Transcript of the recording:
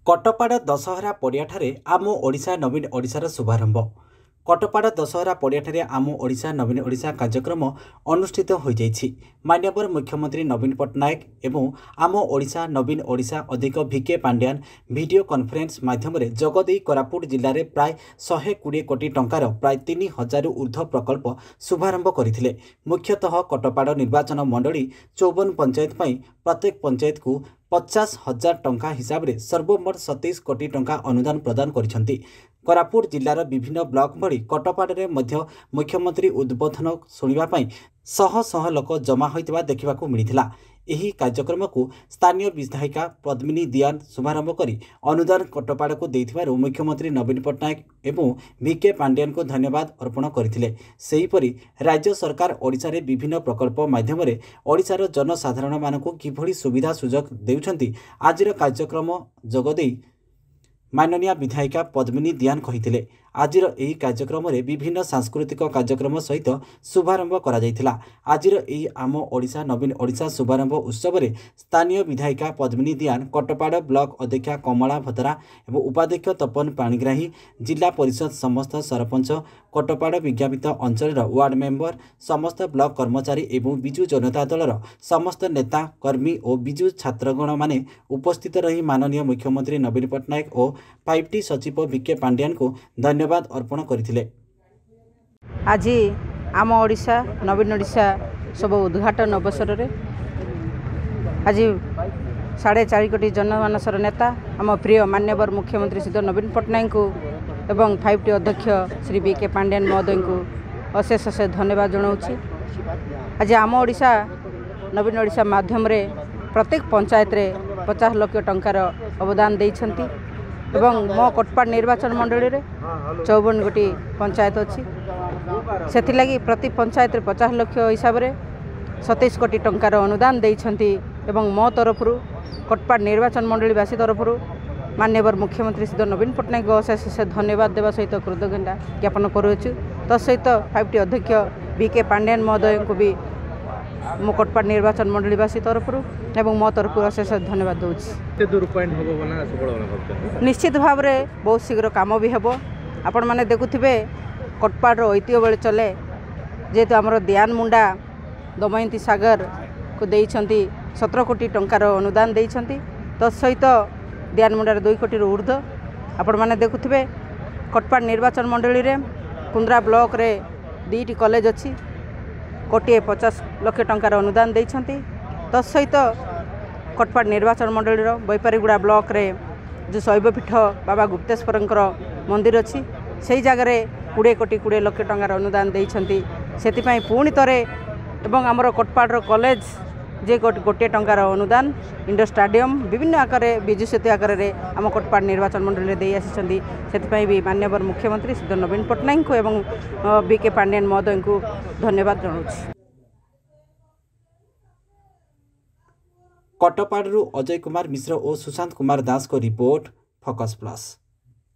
କଟପାଡ଼ ଦଶହରା ପଡ଼ିଆଠାରେ ଆମ ଓଡ଼ିଶା ନବୀନ ଓଡ଼ିଶାର ଶୁଭାରମ୍ଭ। କଟପାଡ଼ ଦଶହରା ପଡ଼ିଆଠାରେ ଆମ ଓଡ଼ିଶା ନବୀନ ଓଡ଼ିଶା କାର୍ଯ୍ୟକ୍ରମ ଅନୁଷ୍ଠିତ ହୋଇଯାଇଛି। ମାନ୍ୟବର ମୁଖ୍ୟମନ୍ତ୍ରୀ ନବୀନ ପଟ୍ଟନାୟକ ଏବଂ ଆମ ଓଡ଼ିଶା ନବୀନ ଓଡ଼ିଶା ଅଧିକ ଭିକେ ପାଣ୍ଡିଆନ ଭିଡ଼ିଓ କନଫରେନ୍ସ ମାଧ୍ୟମରେ ଯୋଗଦେଇ କୋରାପୁଟ ଜିଲ୍ଲାରେ ପ୍ରାୟ 120 କୋଟି ଟଙ୍କାର ପ୍ରାୟ 3000ରୁ ଉର୍ଦ୍ଧ୍ୱ ପ୍ରକଳ୍ପ ଶୁଭାରମ୍ଭ କରିଥିଲେ। ମୁଖ୍ୟତଃ କଟପାଡ଼ ନିର୍ବାଚନ ମଣ୍ଡଳୀ 54 ପଞ୍ଚାୟତ ପାଇଁ ପ୍ରତ୍ୟେକ ପଞ୍ଚାୟତକୁ 50,000 ଟଙ୍କା ହିସାବରେ ସର୍ବମୋଟ 27 କୋଟି ଟଙ୍କା ଅନୁଦାନ ପ୍ରଦାନ କରିଛନ୍ତି। କୋରାପୁଟ ଜିଲ୍ଲାର ବିଭିନ୍ନ ବ୍ଲକ ଭଳି କଟପାଡ଼ରେ ମଧ୍ୟ ମୁଖ୍ୟମନ୍ତ୍ରୀ ଉଦ୍ବୋଧନ ଶୁଣିବା ପାଇଁ ଶହ ଶହ ଲୋକ ଜମା ହୋଇଥିବା ଦେଖିବାକୁ ମିଳିଥିଲା। ଏହି କାର୍ଯ୍ୟକ୍ରମକୁ ସ୍ଥାନୀୟ ବିଧାୟିକା ପଦ୍ମିନୀ ଦିଆନ ଶୁଭାରମ୍ଭ କରି ଅନୁଦାନ କଟପାଡ଼କୁ ଦେଇଥିବାରୁ ମୁଖ୍ୟମନ୍ତ୍ରୀ ନବୀନ ପଟ୍ଟନାୟକ ଏବଂ ଭିକେ ପାଣ୍ଡିଆନଙ୍କୁ ଧନ୍ୟବାଦ ଅର୍ପଣ କରିଥିଲେ। ସେହିପରି ରାଜ୍ୟ ସରକାର ଓଡ଼ିଶାରେ ବିଭିନ୍ନ ପ୍ରକଳ୍ପ ମାଧ୍ୟମରେ ଓଡ଼ିଶାର ଜନସାଧାରଣମାନଙ୍କୁ କିଭଳି ସୁବିଧା ସୁଯୋଗ ଦେଉଛନ୍ତି, ଆଜିର କାର୍ଯ୍ୟକ୍ରମ ଯୋଗଦେଇ ମାନନୀୟା ବିଧାୟିକା ପଦ୍ମିନୀ ଦିଆନ କହିଥିଲେ। ଆଜିର ଏହି କାର୍ଯ୍ୟକ୍ରମରେ ବିଭିନ୍ନ ସାଂସ୍କୃତିକ କାର୍ଯ୍ୟକ୍ରମ ସହିତ ଶୁଭାରମ୍ଭ କରାଯାଇଥିଲା। ଆଜିର ଏହି ଆମ ଓଡ଼ିଶା ନବୀନ ଓଡ଼ିଶା ଶୁଭାରମ୍ଭ ଉତ୍ସବରେ ସ୍ଥାନୀୟ ବିଧାୟିକା ପଦ୍ମିନୀ ଦିଆନ, କଟପାଡ଼ ବ୍ଲକ ଅଧ୍ୟକ୍ଷା କମଳା ଭତରା ଏବଂ ଉପାଧ୍ୟକ୍ଷ ତପନ ପାଣିଗ୍ରାହୀ, ଜିଲ୍ଲା ପରିଷଦ ସମସ୍ତ ସରପଞ୍ଚ, କଟପାଡ଼ ବିଜ୍ଞାପିତ ଅଞ୍ଚଳର ୱାର୍ଡ ମେମ୍ବର, ସମସ୍ତ ବ୍ଲକ କର୍ମଚାରୀ ଏବଂ ବିଜୁ ଜନତା ଦଳର ସମସ୍ତ ନେତା, କର୍ମୀ ଓ ବିଜୁ ଛାତ୍ରଗଣମାନେ ଉପସ୍ଥିତ ରହି ମାନନୀୟ ମୁଖ୍ୟମନ୍ତ୍ରୀ ନବୀନ ପଟ୍ଟନାୟକ ଓ 5ଟି ସଚିବ ଭିକେ ପାଣ୍ଡିଆନଙ୍କୁ ଧନ୍ୟବାଦ ଅର୍ପଣ କରିଥିଲେ। ଆଜି ଆମ ଓଡ଼ିଶା ନବୀନ ଓଡ଼ିଶା ସବୁ ଉଦ୍ଘାଟନ ଅବସରରେ ଆଜି 4.5 କୋଟି ଜନମାନସର ନେତା ଆମ ପ୍ରିୟ ମାନ୍ୟବର ମୁଖ୍ୟମନ୍ତ୍ରୀ ଶ୍ରୀ ନବୀନ ପଟ୍ଟନାୟକଙ୍କୁ ଏବଂ 5ଟି ଅଧ୍ୟକ୍ଷ ଶ୍ରୀ ବି କେ ପାଣ୍ଡିଆନ ମହୋଦୟଙ୍କୁ ଅଶେଷ ଅଶେଷ ଧନ୍ୟବାଦ ଜଣାଉଛି। ଆଜି ଆମ ଓଡ଼ିଶା ନବୀନ ଓଡ଼ିଶା ମାଧ୍ୟମରେ ପ୍ରତ୍ୟେକ ପଞ୍ଚାୟତରେ 50 ଲକ୍ଷ ଟଙ୍କାର ଅବଦାନ ଦେଇଛନ୍ତି ଏବଂ ମୋ କୋଟପାଡ଼ ନିର୍ବାଚନ ମଣ୍ଡଳୀରେ 54 ଗୋଟି ପଞ୍ଚାୟତ ଅଛି, ସେଥିଲାଗି ପ୍ରତି ପଞ୍ଚାୟତରେ 50 ଲକ୍ଷ ହିସାବରେ 27 କୋଟି ଟଙ୍କାର ଅନୁଦାନ ଦେଇଛନ୍ତି। ଏବଂ ମୋ ତରଫରୁ କୋଟପାଡ଼ ନିର୍ବାଚନ ମଣ୍ଡଳୀବାସୀ ତରଫରୁ ମାନ୍ୟବର ମୁଖ୍ୟମନ୍ତ୍ରୀ ଶ୍ରୀ ନବୀନ ପଟ୍ଟନାୟକ ଅଶେଷ ଅଶେଷ ଧନ୍ୟବାଦ ଦେବା ସହିତ କୃତଜ୍ଞତା ଜ୍ଞାପନ କରୁଅଛୁ। ତା ସହିତ 5ଟି ଅଧ୍ୟକ୍ଷ ବି କେ ପାଣ୍ଡିଆନ ମହୋଦୟଙ୍କୁ ବି ମୋ କୋଟପାଡ଼ ନିର୍ବାଚନ ମଣ୍ଡଳୀବାସୀ ତରଫରୁ ଏବଂ ମୋ ତରଫରୁ ଅଶେଷ ଧନ୍ୟବାଦ ଦେଉଛି। ନିଶ୍ଚିତ ଭାବରେ ବହୁତ ଶୀଘ୍ର କାମ ବି ହେବ। ଆପଣମାନେ ଦେଖୁଥିବେ କୋଟପାଡ଼ର ଐତିହ୍ୟ ବେଳେ ଚଲେ, ଯେହେତୁ ଆମର ଦିଆନ ମୁଣ୍ଡା ଦମୟନ୍ତୀ ସାଗରକୁ ଦେଇଛନ୍ତି 17 କୋଟି ଟଙ୍କାର ଅନୁଦାନ ଦେଇଛନ୍ତି, ତତ୍ ସହିତ ଦିଆନ ମୁଣ୍ଡାରେ 2 କୋଟିରୁ ଉର୍ଦ୍ଧ୍ୱ। ଆପଣମାନେ ଦେଖୁଥିବେ କୋଟପାଡ଼ ନିର୍ବାଚନ ମଣ୍ଡଳୀରେ କୁନ୍ଦ୍ରା ବ୍ଲକରେ 2ଟି କଲେଜ ଅଛି, 1.50 କୋଟି ଟଙ୍କାର ଅନୁଦାନ ଦେଇଛନ୍ତି। ତତ୍ ସହିତ କୋଟପାଡ଼ ନିର୍ବାଚନ ମଣ୍ଡଳୀର ବୈପାରିଗୁଡ଼ା ବ୍ଲକରେ ଯେଉଁ ଶୈବପୀଠ ବାବା ଗୁପ୍ତେଶ୍ୱରଙ୍କର ମନ୍ଦିର ଅଛି, ସେଇ ଜାଗାରେ 20 କୋଟି 20 ଲକ୍ଷ ଟଙ୍କାର ଅନୁଦାନ ଦେଇଛନ୍ତି। ସେଥିପାଇଁ ପୁଣି ଥରେ ଏବଂ ଆମର କୋଟପାଡ଼ର କଲେଜ ଯେ 1 ଟଙ୍କାର ଅନୁଦାନ, ଇଣ୍ଡୋର ଷ୍ଟାଡ଼ିୟମ୍ ବିଭିନ୍ନ ଆକାରରେ ବିଜୁ ସେତୁ ଆକାରରେ ଆମ କୋଟପାଡ଼ ନିର୍ବାଚନ ମଣ୍ଡଳୀରେ ଦେଇ ଆସିଛନ୍ତି। ସେଥିପାଇଁ ବି ମାନ୍ୟବର ମୁଖ୍ୟମନ୍ତ୍ରୀ ଶ୍ରୀ ନବୀନ ପଟ୍ଟନାୟକଙ୍କୁ ଏବଂ ବି କେ ପାଣ୍ଡିଆନ ମହୋଦୟଙ୍କୁ ଧନ୍ୟବାଦ ଜଣାଉଛି। କଟପାଡ଼ରୁ ଅଜୟ କୁମାର ମିଶ୍ର ଓ ସୁଶାନ୍ତ କୁମାର ଦାସଙ୍କ ରିପୋର୍ଟ, ଫୋକସ୍ ପ୍ଲସ୍।